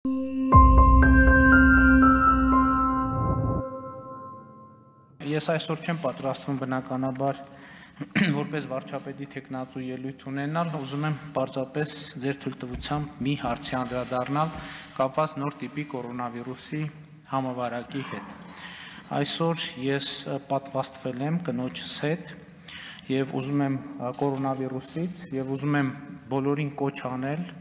Ես այսօր չեմ պատրաստվում բնականաբար որպես վարչապետի թեկնածու ելույթ ունենալ, ուզում եմ պարզապես ձեր թույլտվությամբ մի հարցի անդրադառնալ կապված նոր տիպի կորոնավիրուսի համավարակի հետ։ Այսօր ես պատվաստվել եմ կնոջս հետ եւ ուզում եմ կորոնավիրուսից եւ ուզում եմ բոլորին կոչ անել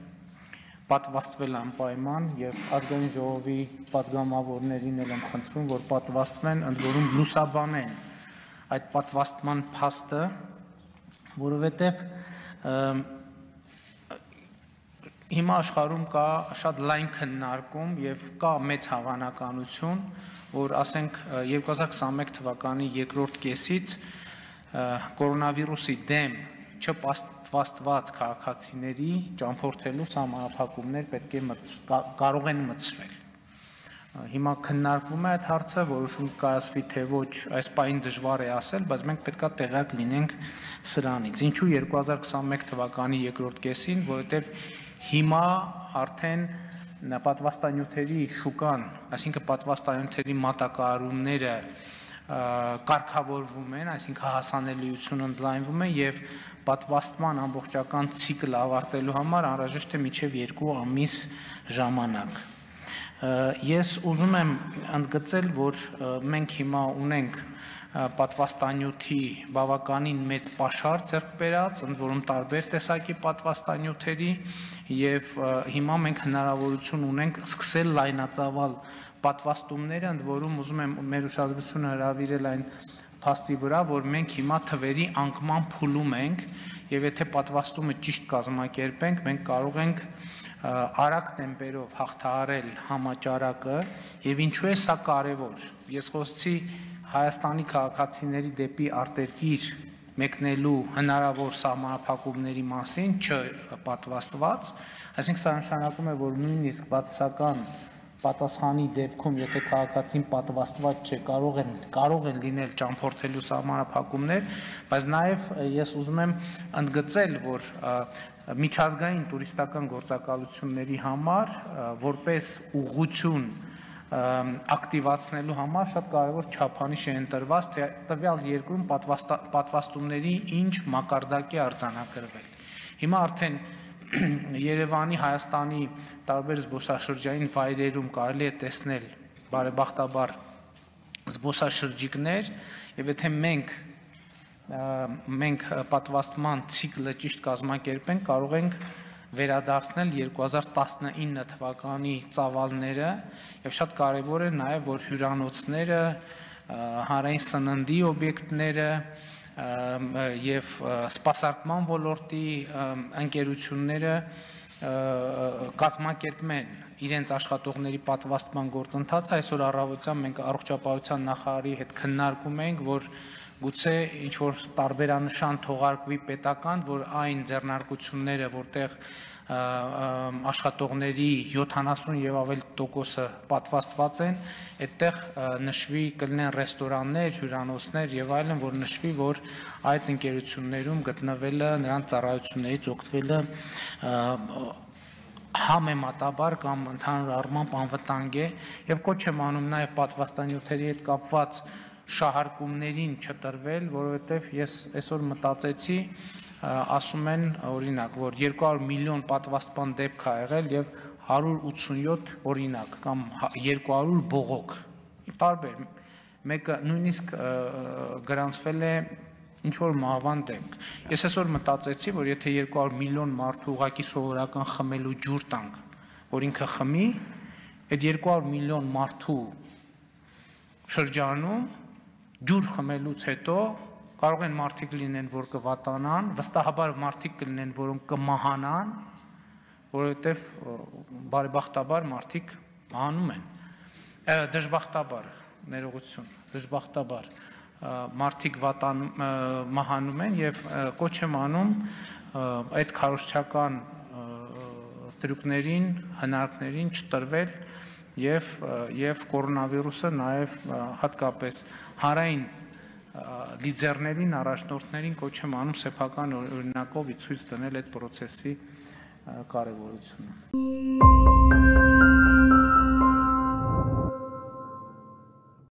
պատվաստվել անպայման եւ ազգային ժողովի պատգամավորներին եմ խնդրում, որ պատվաստվեն, ընդ որում լուսաբանեն այդ պատվաստման փաստը, որովհետեւ հիմա աշխարհում կա շատ լայն քննարկում եւ կա մեծ հավանականություն, որ ասենք 2021 թվականի երկրորդ կեսից կորոնավիրուսի դեմ չպատվաստված քաղաքացիների ճամփորդելու սահմանափակումներ պետք է կարող են մտցվել։ Հիմա քննարկվում է այդ հարցը, որոշում կայացվի թե ոչ, այս պահին դժվար է ասել, բայց մենք պետք է տեղյակ լինենք սրանից։ Ինչու 2021 թվականի երկրորդ կեսին, որովհետև հիմա արդեն պատվաստանյութերի շուկան, այսինքն պատվաստանյութերի մատակարարումները կարգավորվում են, այսինքն հասանելիությունը ընդլայնվում է եւ պատվաստման ամբողջական ցիկլը ավարտելու համար անհրաժեշտ է մինչեւ 2 ամիս ժամանակ։ Ես ուզում եմ ընդգծել, որ մենք հիմա ունենք պատվաստանյութի բավականին մեծ պաշար ձեռք բերած, ընդ որում տարբեր տեսակի պատվաստանյութերի եւ հիմա մենք հնարավորություն ունենք սկսել լայնածավալ պատվաստումները, ընդ որում ուզում եմ մեր ուշադրությունը հրավիրել այն փաստի վրա, որ մենք հիմա թվերի անկման փուլում ենք եւ եթե պատվաստումը ճիշտ կազմակերպենք, մենք կարող ենք արագ տեմպերով հաղթահարել համաճարակը եւ ինչու է սա կարեւոր։ Ես խոսեցի Հայաստանի քաղաքացիների դեպի արտերկիր մեկնելու հնարավոր սահմանափակումների մասին, չպատվաստված, այսինքն սա նշանակում է, որ նույնիսկ բացասական պատասխանի դեպքում, եթե քաղաքացին պատվաստված չէ, կարող են լինել ճամփորդելու սահմանափակումներ, բայց նաև ես ուզում եմ ընդգծել, որ միջազգային տուրիստական գործակալությունների համար որպես ուղղություն ակտիվացնելու համար շատ կարևոր չափանիշ է ընտրված, թե տվյալ երկրում պատվաստումների ինչ մակարդակ է արձանագրվել։ Հիմա արդեն Երևանի, Հայաստանի տարբեր զբոսաշրջային վայրերում կարելի է տեսնել բարեբախտաբար զբոսաշրջիկներ եւ եթե մենք պատվաստման ցիկլը ճիշտ կազմակերպենք, կարող ենք վերադարձնել 2019 թվականի ծավալները եւ շատ կարեւոր է նաեւ որ հյուրանոցները, հանրային սննդի օբյեկտները եւ սպասարկման ոլորտի ընկերությունները կազմակերպեն իրենց աշխատողների պատվաստման գործընթացը։ Այսօր առավոտյան մենք առողջապահության նախարարի հետ քննարկում ենք, որ գուցե ինչ որ տարբերանշան թողարկվի պետական, որ այն ձեռնարկությունները, որտեղ աշխատողների 70 եւ ավելի տոկոսը պատվաստված են, այդտեղ նշվի կլինեն ռեստորաններ, հյուրանոցներ եւ այլն, որ նշվի, որ այդ ընկերություններում գտնվելը, նրանց ծառայություններից օգտվելը համեմատաբար կամ ընդհանուր առմամբ անվտանգ է եւ կոչ եմ անում նաեւ պատվաստանյութերի հետ կապված շահարկումներին չտրվել, որովհետեւ ես այսօր մտածեցի ասում են օրինակ, որ 200 միլիոն պատվաստման դեպք ա եղել եւ 187 օրինակ կամ 200 բողոք։ Տարբեր, մեկը նույնիսկ գրանցվել է ինչ որ մահվան դեպք։ Ես այսօր մտածեցի, որ եթե 200 միլիոն մարդու ուղակի սովորական խմելու ջուր տանք, որ ինքը խմի, այդ 200 միլիոն մարդու շրջանում ջուր խմելուց հետո կարող են մարդիկ լինեն, որ կվատանան, վստահաբար մարդիկ կլինեն, որոնք կմահանան, որովհետև բարեբախտաբար մարդիկ մահանում են, դժբախտաբար, ներողություն, դժբախտաբար մարդիկ մահանում են եւ կոչ եմ անում այդ քարոզչական տրյուկներին, հնարքներին չտրվել եւ կորոնավիրուսը նաեւ հատկապես հանրային լիդերներին, առաջնորդներին կոչ եմ անում սեփական օրինակով ցույց տնել այդ process-ի կարևորությունը։